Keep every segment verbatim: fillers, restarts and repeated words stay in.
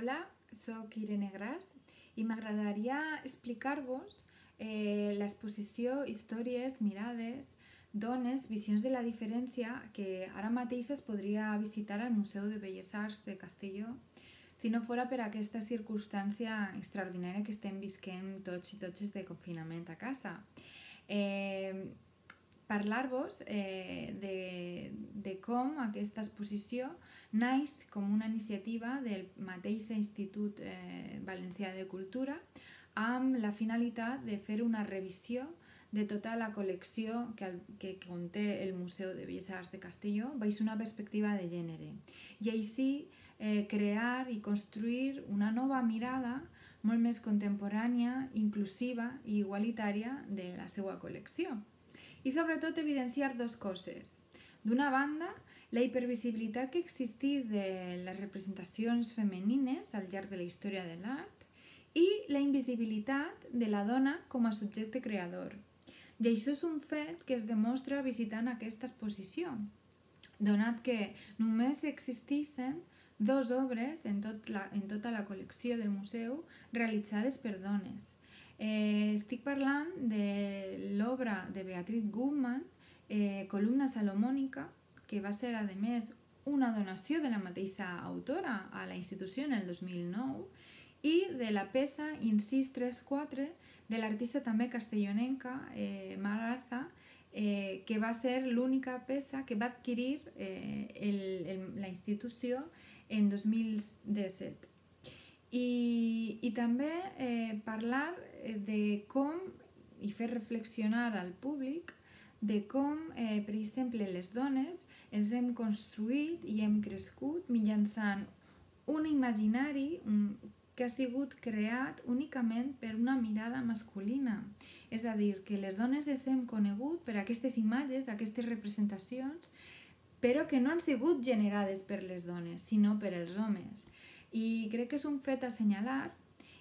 Hola, soc Irene Gras i m'agradaria explicar-vos eh, l'exposició Històries, mirades, dones, visions de la diferència que ara mateix es podria visitar al Museu de Belles Arts de Castelló si no fora per aquesta circumstància extraordinària que estem visquent tots i totes de confinament a casa. Eh, parlar-vos eh, de, de com aquesta exposició naix com una iniciativa del mateix Institut eh, Valencià de Cultura amb la finalitat de fer una revisió de tota la col·lecció que, que conté el Museu de Belles Arts de Castelló baix una perspectiva de gènere i així eh, crear i construir una nova mirada molt més contemporània, inclusiva i igualitària de la seva col·lecció. I sobretot evidenciar dues coses. D'una banda, la hipervisibilitat que existeix de les representacions femenines al llarg de la història de l'art i la invisibilitat de la dona com a subjecte creador. I això és un fet que es demostra visitant aquesta exposició, donat que només existeixen dues obres en, tot la, en tota la col·lecció del museu realitzades per dones. Eh, estic parlant de l'obra de Beatriz Gutmann, eh, Columna Salomònica, que va ser, a més, una donació de la mateixa autora a la institució en el dos mil nou, i de la peça Incís tres quatre de l'artista també castellonenca eh, Mar Arza, eh, que va ser l'única peça que va adquirir eh, el, el, la institució en dos mil disset. I, i també eh, parlar de com, i fer reflexionar al públic, de com, eh, per exemple, les dones ens hem construït i hem crescut mitjançant un imaginari que ha sigut creat únicament per una mirada masculina. És a dir, que les dones ens hem conegut per aquestes imatges, aquestes representacions, però que no han sigut generades per les dones, sinó per els homes. I crec que és un fet a assenyalar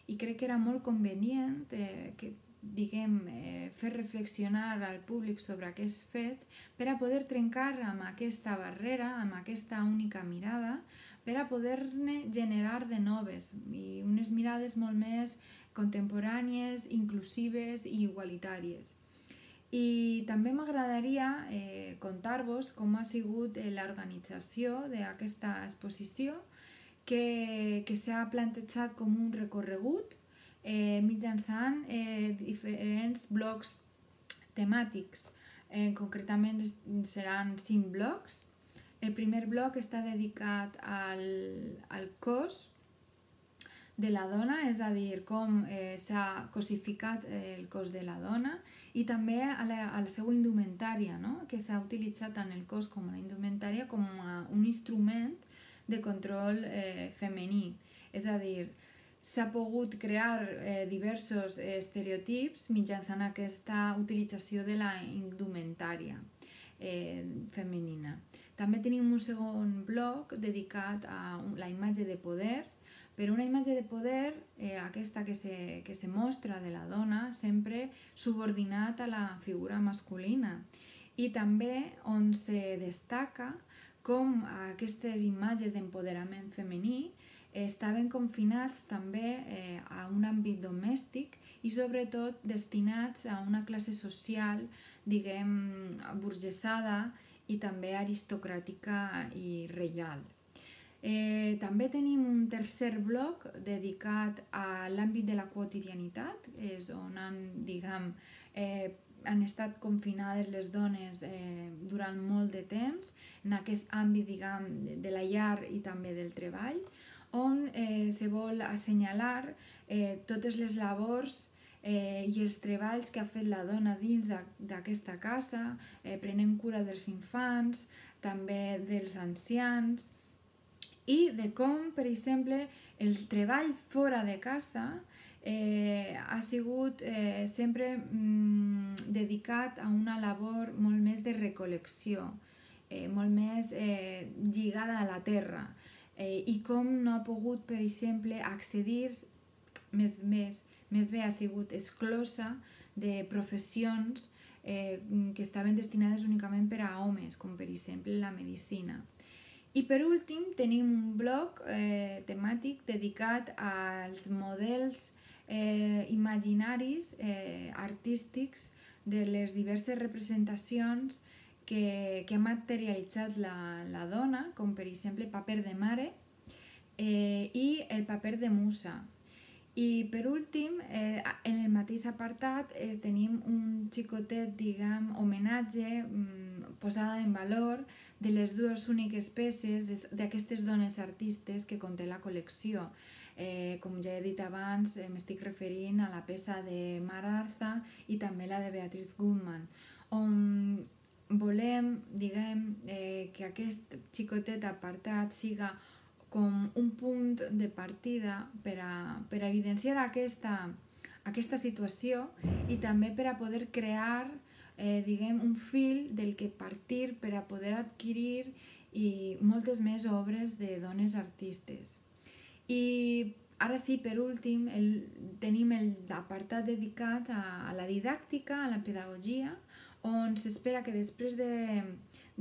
i crec que era molt convenient eh, que, diguem, eh, fer reflexionar al públic sobre aquest fet per a poder trencar amb aquesta barrera, amb aquesta única mirada, per a poder-ne generar de noves i unes mirades molt més contemporànies, inclusives i igualitàries. I també m'agradaria eh, contar-vos com ha sigut eh, l'organització d'aquesta exposició que, que s'ha plantejat com un recorregut eh, mitjançant eh, diferents blocs temàtics. Eh, concretament seran cinc blocs. El primer bloc està dedicat al, al cos de la dona, és a dir, com eh, s'ha cosificat el cos de la dona i també a la, a la seva indumentària, no? Que s'ha utilitzat tant el cos com la indumentària com a un instrument de control eh, femení. És a dir, s'ha pogut crear eh, diversos estereotips mitjançant aquesta utilització de la indumentària eh, femenina. També tenim un segon bloc dedicat a la imatge de poder, però una imatge de poder, eh, aquesta que se, que se mostra de la dona, sempre subordinat a la figura masculina. I també on se destaca com aquestes imatges d'empoderament femení estaven confinats també eh, a un àmbit domèstic i sobretot destinats a una classe social, diguem, burgesada i també aristocràtica i reial. Eh, també tenim un tercer bloc dedicat a l'àmbit de la quotidianitat, és on han, diguem, eh, han estat confinades les dones eh, durant molt de temps en aquest àmbit, diguem, de la llar i també del treball, on eh, se vol assenyalar eh, totes les labors eh, i els treballs que ha fet la dona dins d'aquesta casa, eh, prenent cura dels infants, també dels ancians, i de com, per exemple, el treball fora de casa eh, ha sigut eh, sempre mm, dedicat a una labor molt més de recol·lecció, eh, molt més eh, lligada a la terra, eh, i com no ha pogut, per exemple, accedir, més, més, més bé ha sigut exclosa de professions eh, que estaven destinades únicament per a homes, com per exemple la medicina. I per últim tenim un blog eh, temàtic dedicat als models eh, imaginaris eh, artístics de les diverses representacions que, que ha materialitzat la, la dona, com per exemple el paper de mare eh, i el paper de musa. I per últim, eh, en el mateix apartat eh, tenim un xicotet, diguem, homenatge, mm, posada en valor de les dues úniques peces d'aquestes dones artistes que conté la col·lecció. Eh, com ja he dit abans, eh, m'estic referint a la peça de Mar Arza i també la de Beatriz Gutmann, on volem, diguem, eh, que aquest xicotet apartat siga com un punt de partida per a, per a evidenciar aquesta, aquesta situació i també per a poder crear eh, diguem, un fil del que partir per a poder adquirir i moltes més obres de dones artistes. I ara sí, per últim, el, tenim l'apartat dedicat a, a la didàctica, a la pedagogia, on s'espera que després de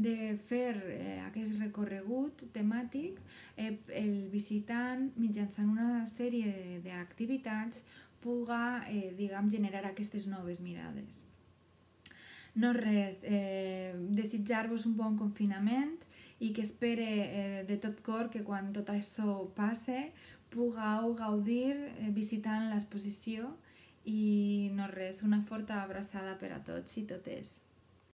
de fer eh, aquest recorregut temàtic, eh, el visitant, mitjançant una sèrie d'activitats, puga eh, diguem, generar aquestes noves mirades. No res, eh, desitjar-vos un bon confinament i que espere eh, de tot cor que quan tot això passe pugueu gaudir eh, visitant l'exposició i no res, una forta abraçada per a tots i totes.